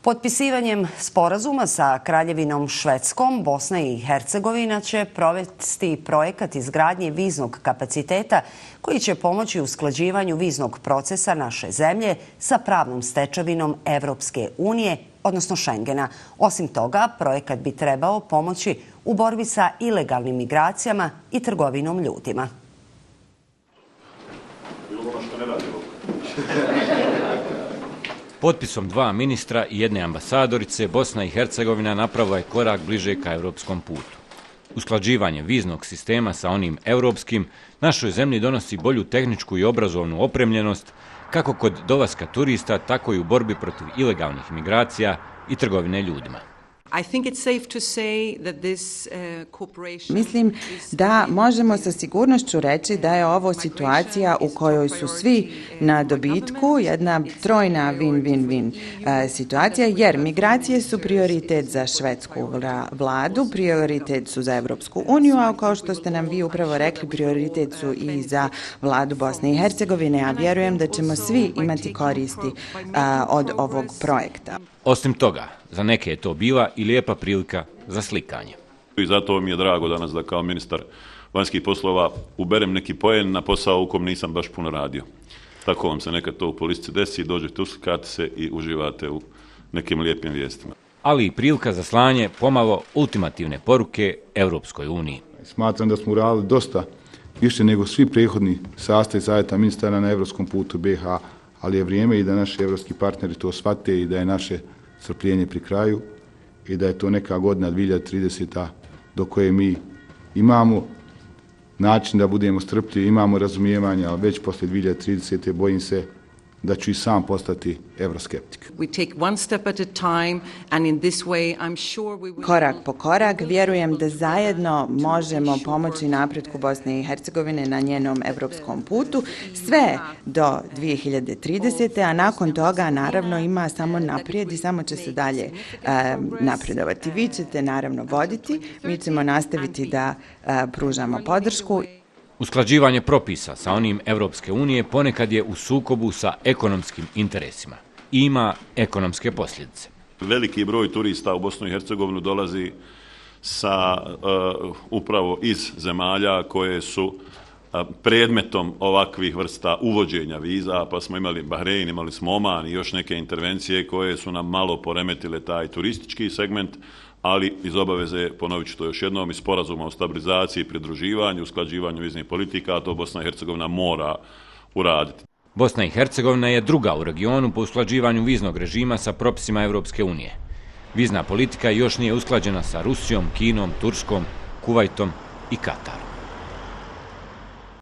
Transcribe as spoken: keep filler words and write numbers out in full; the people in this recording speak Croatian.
Potpisivanjem sporazuma sa Kraljevinom Švedskom, Bosna i Hercegovina će provesti projekat izgradnje viznog kapaciteta koji će pomoći usklađivanju viznog procesa naše zemlje sa pravnom stečevinom Evropske unije, odnosno Schengena. Osim toga, projekat bi trebao pomoći u borbi sa ilegalnim migracijama i trgovinom ljudima. Potpisom dva ministra i jedne ambasadorice, Bosna i Hercegovina napravila je korak bliže ka europskom putu. Usklađivanje viznog sistema sa onim europskim našoj zemlji donosi bolju tehničku i obrazovnu opremljenost, kako kod dolaska turista, tako i u borbi protiv ilegalnih migracija i trgovine ljudima. Mislim da možemo sa sigurnošću reći da je ovo situacija u kojoj su svi na dobitku, jedna trojna win-win-win situacija, jer migracije su prioritet za švedsku vladu, prioritet su za Evropsku uniju, a kao što ste nam vi upravo rekli, prioritet su i za vladu Bosne i Hercegovine, a vjerujem da ćemo svi imati koristi od ovog projekta. Osim toga, za neke je to bila i lijepa prilika za slikanje. I zato mi je drago danas da kao ministar vanjskih poslova uberem neki poen na posao u kom nisam baš puno radio. Tako vam se nekad to u politici desi, dođete, uslikate se i uživate u nekim lijepim vijestima. Ali i prilika za slanje pomalo ultimativne poruke Evropskoj uniji. Smatram da smo uradili dosta više nego svi prethodni sastavi savjeta ministara na evropskom putu B iH, ali je vrijeme i da naši evropski partneri to shvate i da je naše strpljenje pri kraju i da je to neka godina dvije hiljade trideseta do koje mi imamo način da budemo strpljivi, imamo razumijevanja, ali već poslije dvije hiljade tridesete bojim se da ću i sam postati euroskeptik. Korak po korak, vjerujem da zajedno možemo pomoći napretku Bosne i Hercegovine na njenom evropskom putu, sve do dvije hiljade tridesete. a nakon toga naravno ima samo naprijed i samo će se dalje e, napredovati. Vi ćete naravno voditi, mi ćemo nastaviti da e, pružamo podršku. Usklađivanje propisa sa onim Evropske unije ponekad je u sukobu sa ekonomskim interesima i ima ekonomske posljedice. Veliki broj turista u Bosnu i Hercegovinu dolazi sa uh, upravo iz zemalja koje su uh, predmetom ovakvih vrsta uvođenja viza, pa smo imali Bahrein, imali smo Oman i još neke intervencije koje su nam malo poremetile taj turistički segment, ali iz obaveze, ponovit ću to još jednom, iz sporazuma o stabilizaciji, pridruživanju, usklađivanju viznih politika, a to Bosna i Hercegovina mora uraditi. Bosna i Hercegovina je druga u regionu po usklađivanju viznog režima sa propisima Evropske unije. Vizna politika još nije usklađena sa Rusijom, Kinom, Turskom, Kuvajtom i Katarom.